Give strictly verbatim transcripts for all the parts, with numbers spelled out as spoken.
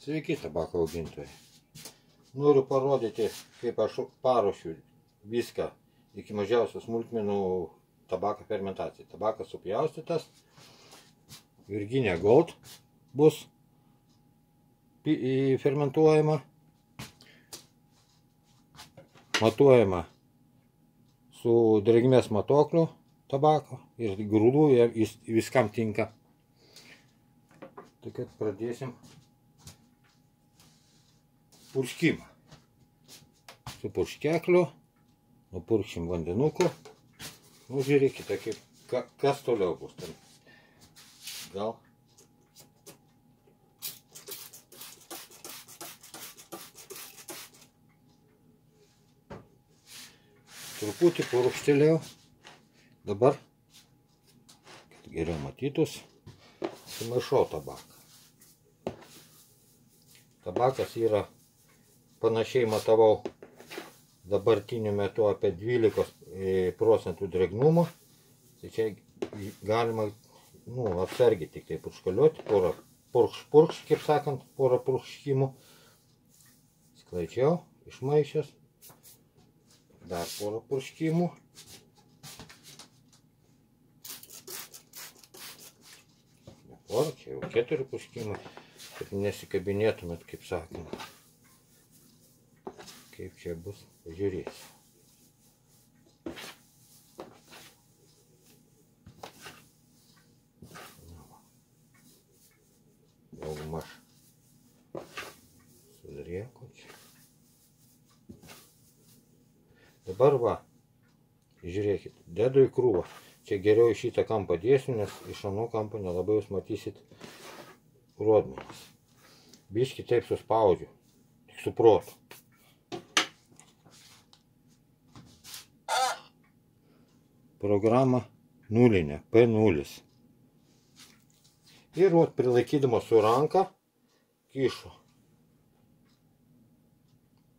Sveiki, tabako augintojai. Noriu parodyti, kaip aš paruošiu viską iki mažiausių smulkmenų tabako fermentacijai. Tabakas supjaustytas, Virginia Gold bus fermentuojama, matuojama su drėgmės matuokliu tabako ir grūdų jis viskam tinka. Tai kad pradėsim purškimą. Su purškekliu, nupurkšim vandenuku. Nu, žiūrėkite, kaip, ka, kas toliau bus ten. Gal. Truputį purkštelėjau. Dabar, kad geriau matytus, sumaišau tabaką. Tabakas yra, panašiai matavau dabartiniu metu apie dvylikos procentų drėgnumo. Tai čia galima, nu, atsargiai tik tai purškaliuoti, porą purkš, purkš, kaip sakant, porą purkškimų. Sklaidžiau, išmaišęs. Dar porą purškimų. Porą, čia jau keturi purškimai. Kad nesikabinėtumėt, kaip sakant. Kaip čia bus, pažiūrėsiu. Daugmaž sudrėko čia. Dabar va, žiūrėkit, dedu į krūvą. Čia geriau į šitą kampą dėsiu, nes iš ano kampo nelabai jūs matysit rodmenis. Biškį taip suspaudžiu, tik su protu. Programa nulinė, P nulis. Ir vat prilaikydamas su ranka kišu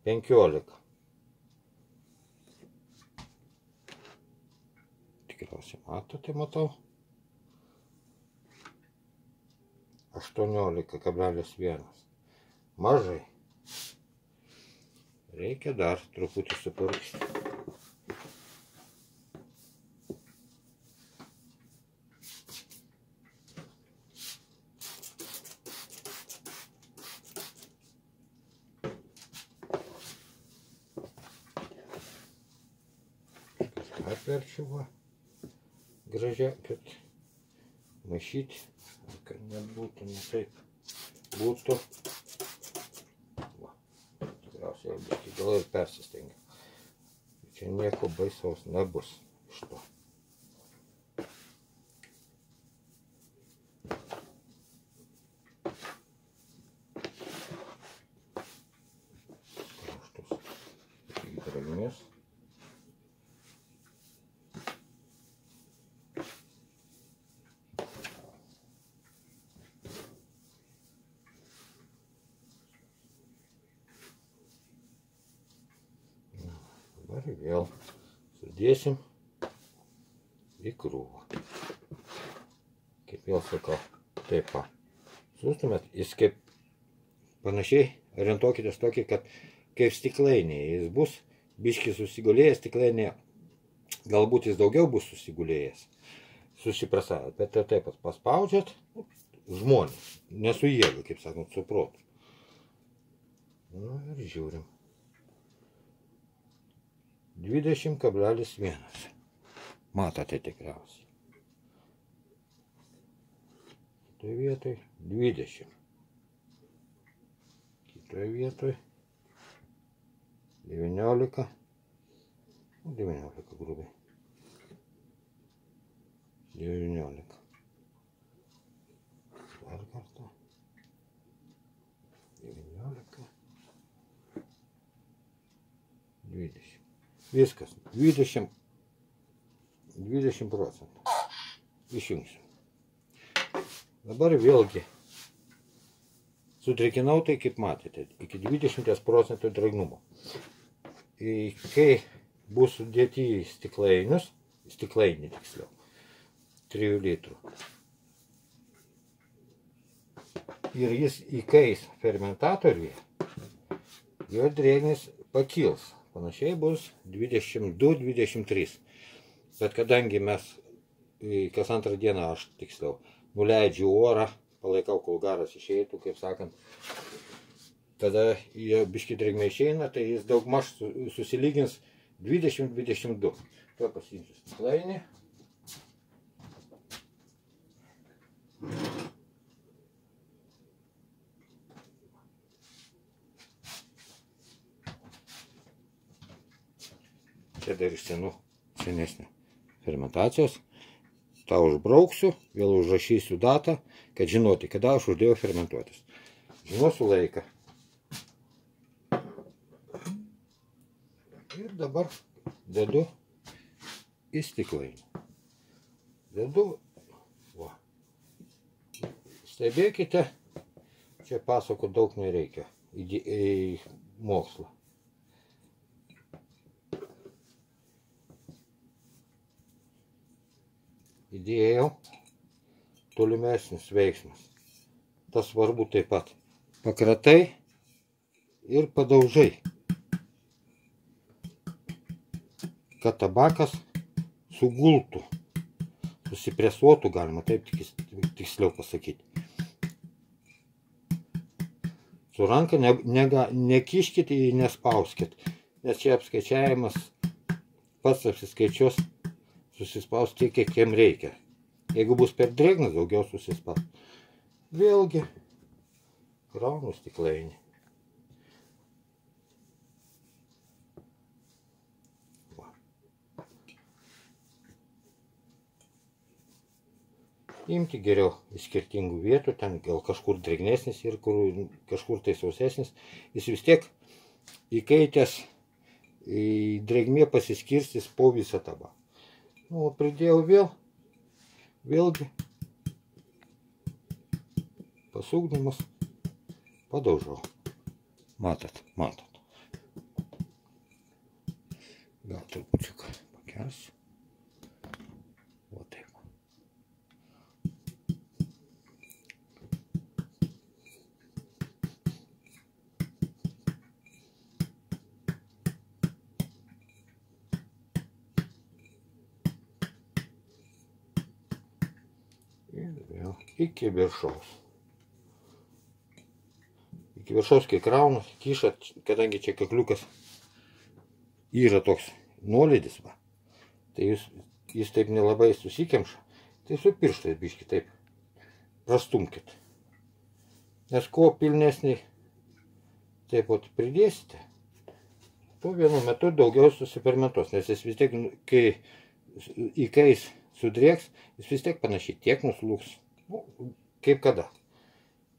penkiolika. Tikriausiai matote, matau. aštuoniolika kablelis vienas. Mažai. Reikia dar truputį supurkšti. Atverčiu va gražiai, kad maišyti, kad nebūtų, ne taip būtų. Va, tikriausiai jau biškį gal ir persistengiu. Čia nieko baisaus nebus iš to. Kraštus iki drėgmės. Dabar vėl sudėsim į krūvą. Kaip vėl sakau, taip va. Sustumėt, jis kaip panašiai orientuokitės tokį, kad kaip stiklainėje jis bus biškį susigulėjęs, stiklainėje galbūt jis daugiau bus susigulėjęs, susiprasavęs, bet taip pat paspaudžiat žmonės, ne su jėga, kaip sakant, su protu. Nu ir žiūrim. dvidešimt kablelis vienas. Matote tikriausiai. Kitoje vietoje dvidešimt. Kitoje vietoje devyniolika. devyniolika grubiai. devyniolika. Dar kartą. devyniolika. dvidešimt. Viskas, dvidešimt, dvidešimt procentų. Išjungsiu. Dabar vėlgi sudrėkinau tai, kaip matėte, iki dvidešimt procentų drėgnumo. Kai bus sudėti į stiklainius, stiklainį tiksliau, trijų litrų. ir jis įkais fermentatoriuje, jo drėgnis pakils. Panašiai bus dvidešimt du dvidešimt trys. Bet kadangi mes kas antrą dieną, aš tiksliau, nuleidžiu orą, palaikau, kol garas išeitų, kaip sakant, tada jo biški drėgmė išeina, tai jis daugmaž susilygins dvidešimt dvidešimt du. Tuo pasiimsiu stiklainį. Čia dar iš senų, senesnio fermentacijos. tą užbrauksiu, vėl užrašysiu datą, kad žinoti, kada aš uždėjau fermentuotis. Žinosiu laiką. Ir dabar dedu į stiklainį. Dedu, va. Stebėkite, čia pasako daug nereikia į, į mokslą. Įdėjau tolimesnis veiksmas. Tas svarbu taip pat. Pakratai ir padaužai, kad tabakas sugultų, susipresuotų, galima taip tiksliau pasakyti. Su ranka ne, ne, nekiškit ir nespauskit, nes čia apskaičiavimas pats apsiskaičios, susispaus tiek, kiek jam reikia. Jeigu bus per drėgnas, daugiau susispaus. Vėlgi, kraunu stiklainį. Va. Imti geriau iš skirtingų vietų, ten gal kažkur drėgnesnis ir kur, kažkur tai sausesnis. Jis vis tiek įkaitęs, drėgmė pasiskirstys po visą tabaką. Nu, pridėjau vėl, vėlgi, pasukdamas, padaužau. Matot, matot. Gal trupučiuką pakelsiu. O taip. Iki viršaus. Iki viršaus, kai kraunu, kiša, kadangi čia kakliukas yra toks nuolydis, va, tai jūs, jis taip nelabai susikemša, tai su pirštais biški taip prastumkit. Nes kuo pilnesnį taip pat pridėsite, tuo vienu metu daugiau susifermentuos, nes jis vis tiek, kai įkais sudrėks, jis vis tiek panašiai tiek nuslūks. Nu, kaip kada.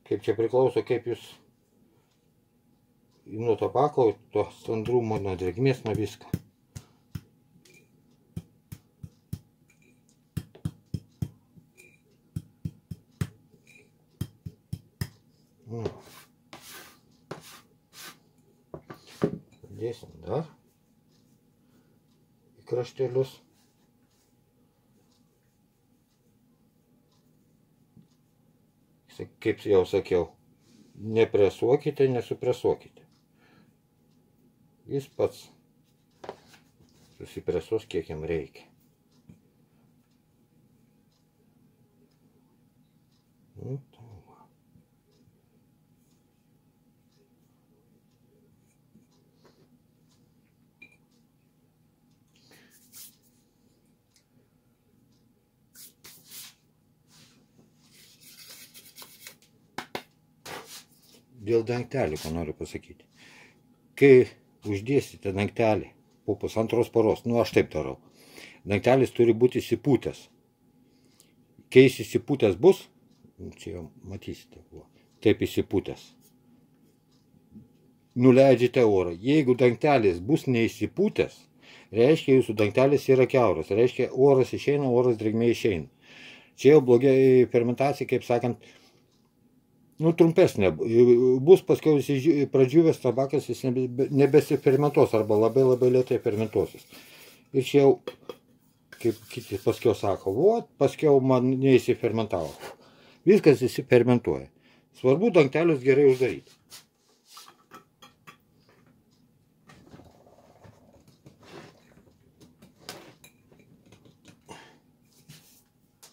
Kaip čia priklauso, kaip jūs nuo tabako, to standrumo, nuo drėgmės, nuo visko. Nu. Dėsim dar į kraštelius. Kaip jau sakiau, nepresuokite, nesupresuokite. Jis pats susipresuos, kiek jam reikia. Nu, dėl dangtelį, ko noriu pasakyti. Kai uždėsite dangtelį po pusantros paros, nu aš taip darau, dangtelis turi būti įsipūtęs. Kai jis įsipūtęs bus, čia jau matysite, taip įsipūtęs, nuleidžiate orą. Jeigu dangtelis bus neįsipūtęs, reiškia jūsų dangtelis yra kiauras, reiškia oras išeina, oras drėgmė išeina. Čia jau blogai fermentacija, kaip sakant, nu, trumpesnė. Bus paskiau pradžiūvęs tabakas, jis nebesifermentuos arba labai labai lėtai fermentuosis. Ir čia jau, kaip kiti paskiau sako, vot, paskiau man neįsifermentavo. Viskas įsifermentuoja. Svarbu dangtelius gerai uždaryti.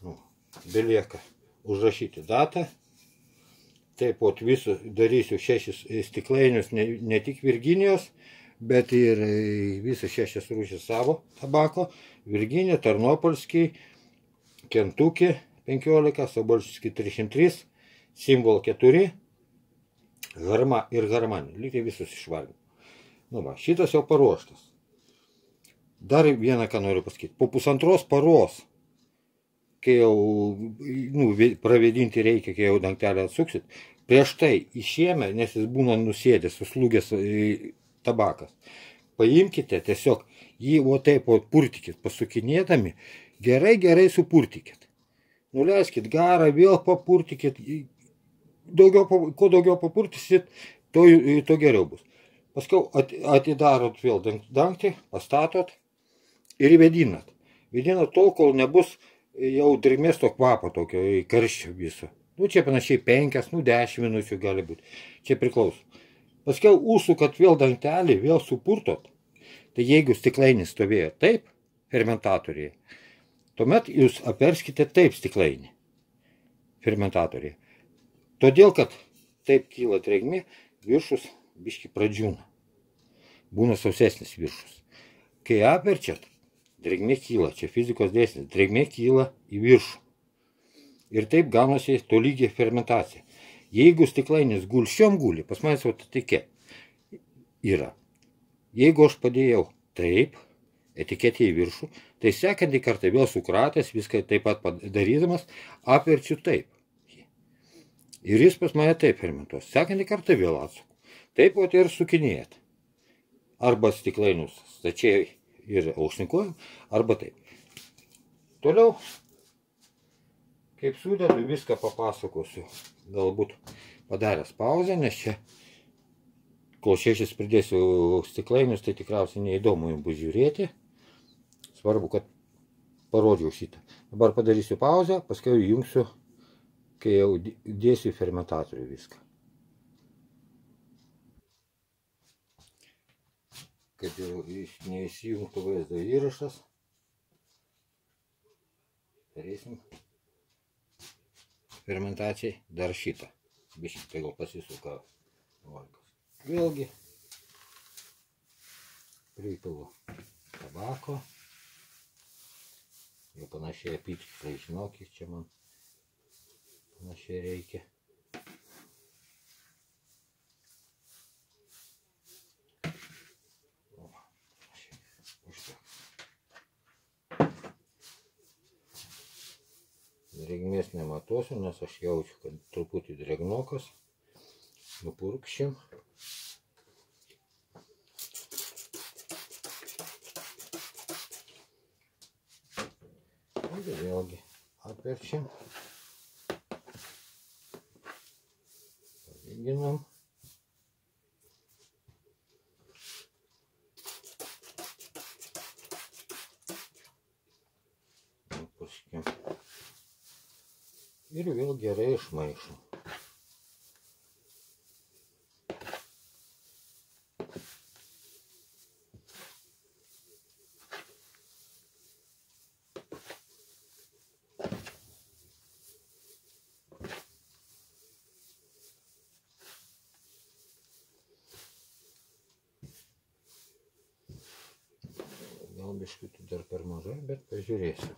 Nu, belieka užrašyti datą. Taip pat visus darysiu šešis stiklainius, ne, ne tik Virginijos, bet ir visas šešias rūšis savo tabako. Virginija, Tarnopolskiai, Kentuki penkiolika, Sobolskiai trisdešimt trys, Simbol keturi, Harma ir Harmani. Lygiai visus išvalgiau. Nu va, šitas jau paruoštas. Dar vieną, ką noriu pasakyti. Po pusantros paros, kai jau nu, pravėdinti reikia, kai jau dangtelę atsuksit, prieš tai išėmę, nes jis būna nusėdęs, suslūgęs tabakas, paimkite tiesiog jį o taip o purtikit, pasukinėdami, gerai, gerai supurtikit. Nuleiskit garą, vėl papurtikit, daugiau, kuo daugiau papurtisit, to, to geriau bus. Paskau atidarot vėl dangtį, pastatot ir įvedinat. Vedinat tol, kol nebus jau drėgmės to kvapo tokio karščio viso. Nu, čia panašiai penkias, nu, dešimt minučių gali būti. Čia priklauso. Paskiau užsukat vėl dangtelį, vėl supurtot. Tai jeigu stiklainis stovėjo taip, fermentatoriai, tuomet jūs aperskite taip stiklainį fermentatoriai. Todėl, kad taip kyla drėgmė, viršus biški pradžiūna. Būna sausesnis viršus. Kai aperčiat, drėgmė kyla, čia fizikos dėsnis, drėgmė kyla į viršų. Ir taip gaunasi tolygiai fermentacija. Jeigu stiklainis gulščiom guli, pas manęs etiketė yra. Jeigu aš padėjau taip, etiketė į viršų, tai sekantį kartą vėl sukratęs, viską taip pat padarydamas, aperčiu taip. Ir jis pas mane taip fermentuos. Sekantį kartą vėl atsuku. Taip pat ir sukinėjat. Arba stiklainius stačiai ir aukštinkuojam, arba taip. Toliau, kaip sudedu, viską papasakosiu. Galbūt padaręs pauzę, nes čia, kol šešis pridėsiu stiklainius, tai tikriausiai neįdomu jums bus žiūrėti. Svarbu, kad parodžiau šitą. Dabar padarysiu pauzę, paskui jungsiu, kai jau dėsiu į fermentatorių viską. Kad jau neįsijungtų vaizdo įrašas, darysim fermentacijai dar šitą. Biškį tai gal pasisuka valkas. Vėlgi pripilu tabako. Jau panašiai apytikriai žinau, kiek čia man panašiai reikia. Drėgmės nematosiu, nes aš jaučiu, kad truputį drėgnokas. Nupurkšim. Ir vėlgi apverčiam. Palyginam. Nupurškim. Ir vėl gerai išmaišom. Gal biškutį dar per mažai, bet pažiūrėsiu.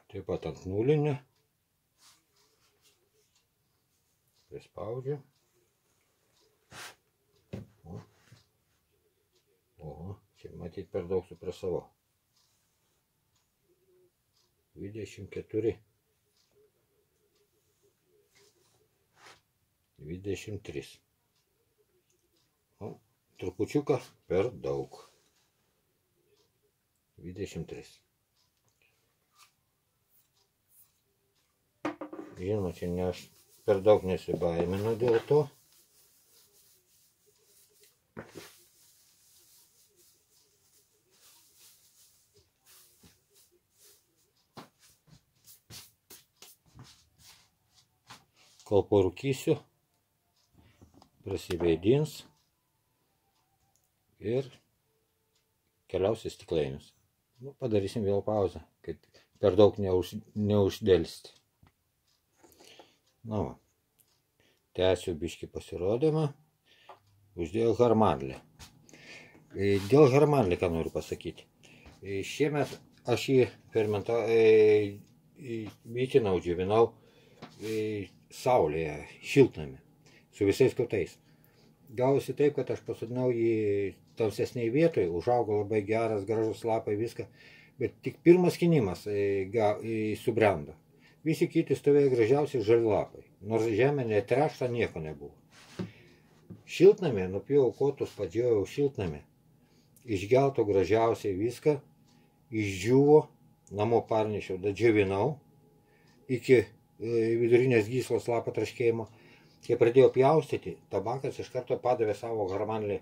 Taip pat ant nulinio. Prispaudžiu. O, o čia matyt per daug supresavau. dvidešimt keturi. dvidešimt trys. O, trupučiuką per daug. dvidešimt trys. Žinoma, čia ne aš per daug nesibaiminu dėl to. kol parūkysiu, prasiveidins ir keliausiu į stiklainius. Nu, padarysim vėl pauzę, kad per daug neuž, neuždėlsti. Na, va. Tęsiu biškį pasirodymą. Uždėjau harmanlį. Dėl harmanlį ką noriu pasakyti. Šiemet aš jį fermentau, vytinau, džiovinau saulėje, šiltnamy, su visais kotais. Gausi taip, kad aš pasodinau jį tamsesniai vietoje, užaugo labai geras, gražus lapai, viską, bet tik pirmas skinimas subrendo. Visi kiti stovėjo gražiausiai žali lapai, nors žemė netrešta, nieko nebuvo. Šiltnamį, nupjovau kotus, padžiojau šiltnamį, išgelto gražiausiai viską, išdžiuvo, namo parnešiau, dadžiovinau iki vidurinės gyslos lapo traškėjimo. Kai pradėjau pjaustyti, tabakas iš karto padavė savo harmanlį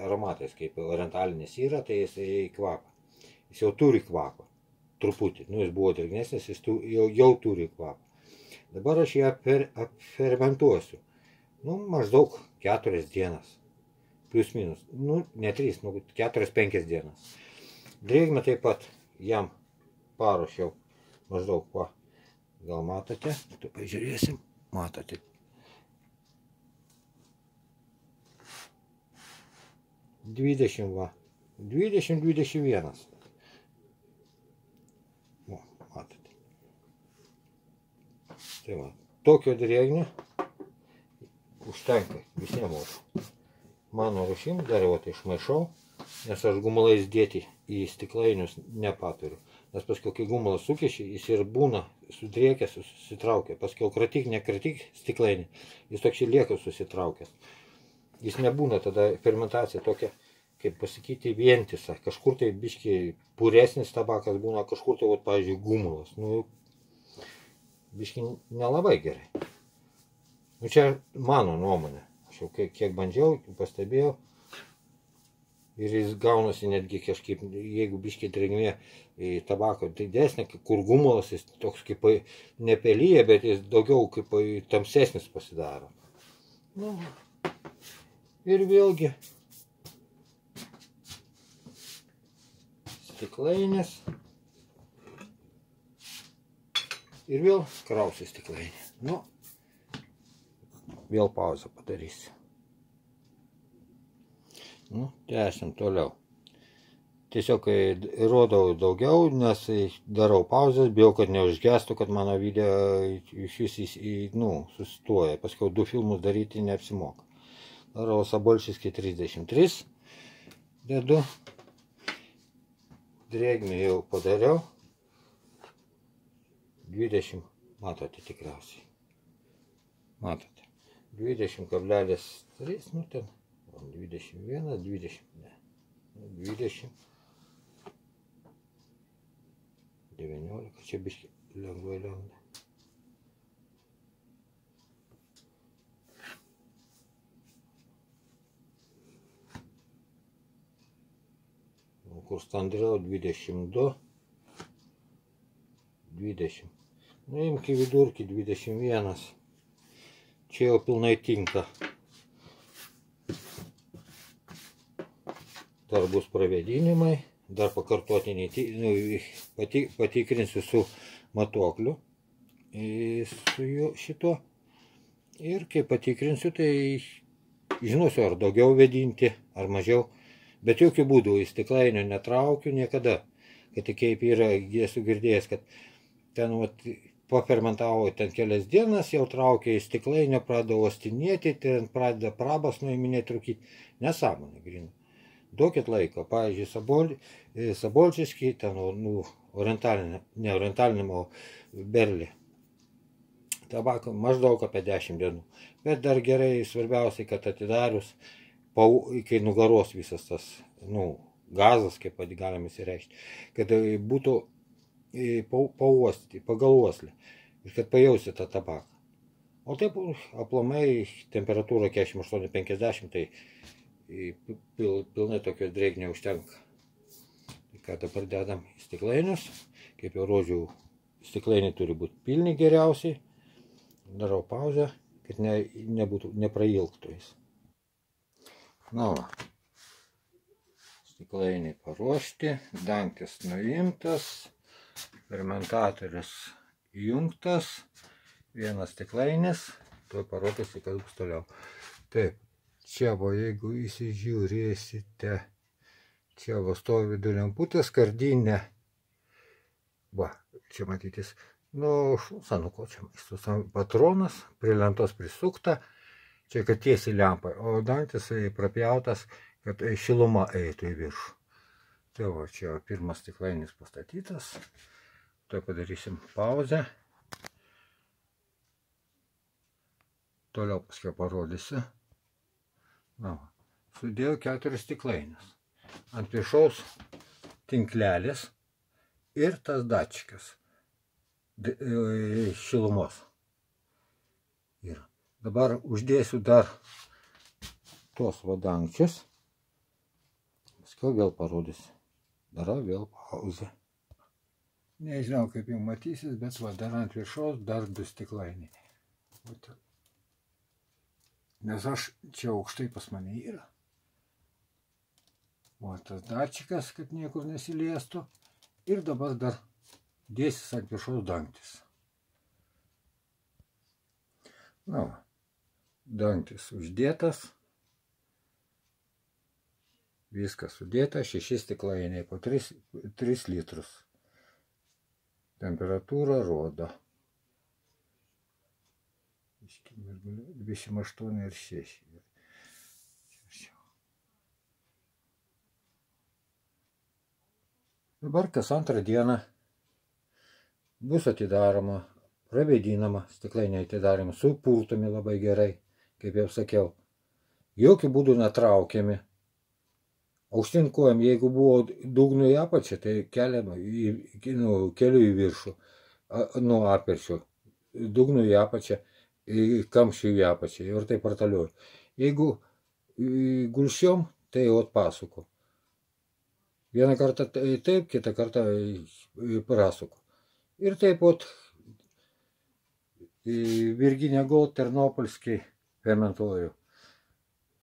aromatais, kaip orientalinis yra, tai jis kvapą. Jis jau turi kvapą, truputį, nu jis buvo drėgnesnis, jis tu, jau, jau turi kvapą. Dabar aš ją fermentuosiu, nu maždaug keturias dienas, plius minus, nu ne trys, nu keturias penkias dienas. Drėgmę taip pat jam paruošiau maždaug, va, gal matote, tu pažiūrėsim, matote. dvidešimt, va, dvidešimt dvidešimt vienas. O, matote. Tai va, tokio drėgnio užtenka visiems mūsų. Mano rušim dar jau tai išmaišau, nes aš gumulais dėti į stiklainius nepaturiu. Nes paskui, kai gumulas sukiši, jis ir būna sudrėkęs, susitraukė. Paskui kratyk, nekratyk stiklainį, jis toks lieka susitraukęs. Jis nebūna tada fermentacija tokia, kaip pasakyti, vientisa. Kažkur tai biški puresnis tabakas būna, kažkur tai, vat, pavyzdžiui, gumulas. Nu, biški nelabai gerai. Nu, čia mano nuomonė. Aš jau kiek, kiek bandžiau, pastebėjau. Ir jis gaunasi netgi kažkaip, jeigu biški drėgmė tabako didesnė, kur gumulas, jis toks kaip nepelyja, bet jis daugiau kaip tamsesnis pasidaro. Nu, ir vėlgi stiklainės ir vėl krausiu stiklainę. Nu, vėl pauzę padarysiu. Nu, tęsim toliau. Tiesiog rodau daugiau, nes darau pauzės, bijau, kad neužgestų, kad mano video iš vis nu, sustoja. Paskiau du filmus daryti neapsimoka. Darau Sabolčyskį trisdešimt trys. Dedu. Drėgmę jau padariau. dvidešimt, matote tikriausiai. Matote. dvidešimt kablelis trys, nu ten. dvidešimt vienas, dvidešimt, ne. dvidešimt. devyniolika, čia biškai lengvai lengva. Kur standriau dvidešimt du, dvidešimt. Nu, imk į vidurkį dvidešimt vienas. Čia jau pilnai tinka. Dar bus pravėdinimai, dar pakartotiniai, nu, pati, patikrinsiu su matuokliu, su šito. Ir kai patikrinsiu, tai žinosiu, ar daugiau vėdinti, ar mažiau. Bet jokių būdų į stiklainio netraukiu niekada. Kad tik kaip yra, esu girdėjęs, kad ten vat, pafermentavo ten kelias dienas, jau traukia į stiklainio, pradeda uostinėti, ten pradeda prabas nuiminėti, trūkyti. Nesąmonė, grinu. Duokit laiko. Pavyzdžiui, Sabol, Sabolčyskį, ten, nu, orientalinė, ne orientalinė, o berlį. Tabako maždaug apie dešimt dienų. Bet dar gerai, svarbiausiai, kad atidarius, kai nugaros visas tas, nu, gazas, kaip galim įsireikšti, kad būtų pauostyti, pagal uoslę, ir kad pajausi tą tabaką. O taip, aplamai, temperatūra keturiasdešimt aštuoni penkiasdešimt, tai pil, pilnai tokios drėgmės užtenka. Tai ką dabar dedam į stiklainius, kaip jau rodžiau, stiklainiai turi būti pilni geriausiai, darau pauzę, kad ne, nebūtų, neprailgtų jis. Na va. Stiklainiai paruošti, dangtis nuimtas, fermentatorius įjungtas, vienas stiklainis, tuoj parodysiu, kas bus toliau. Taip, čia va, jeigu įsižiūrėsite, čia va stovi vidų lemputė, skardinė, va, čia matytis, nu, sanuko čia maisto, patronas, prie lentos prisukta, čia kad tiesiai lempa, o dangtis prapjautas, kad šiluma eitų į viršų. Tai va, čia pirmas stiklainis pastatytas, tai padarysim pauzę. Toliau paskui parodysiu. Na, sudėjau keturis stiklainius. Ant viršaus tinklelis ir tas dačikas šilumos. Ir dabar uždėsiu dar tuos vadangčius. Paskui vėl parodysiu. Darau vėl pauzę. Nežinau, kaip jau matysis, bet va, dar ant viršaus dar du stiklainiai. Nes aš čia aukštai pas mane yra. O tas dačikas, kad niekur nesiliestų. Ir dabar dar dėsis ant viršaus dangtis. Na, va, dangtis uždėtas. Viskas sudėta, šeši stiklainiai po tris litrus. Temperatūra rodo. dvidešimt aštuoni ir šeši. Dabar kas antrą dieną bus atidaroma, pravėdinama, stiklainiai atidaroma, supurtomi labai gerai, kaip jau sakiau. Jokių būdų netraukiami. Aukštyn kojom, jeigu buvo dugnu į apačią, tai keliama, nu, keliu į viršų, nuo aperčio, dugnu į apačią, kamščių į apačią ir taip partaliuoju. Jeigu gulščiom, tai jau atpasuku. Vieną kartą taip, kitą kartą prasuku. Ir taip pat Virginia Gold Ternopolskiai fermentuoju.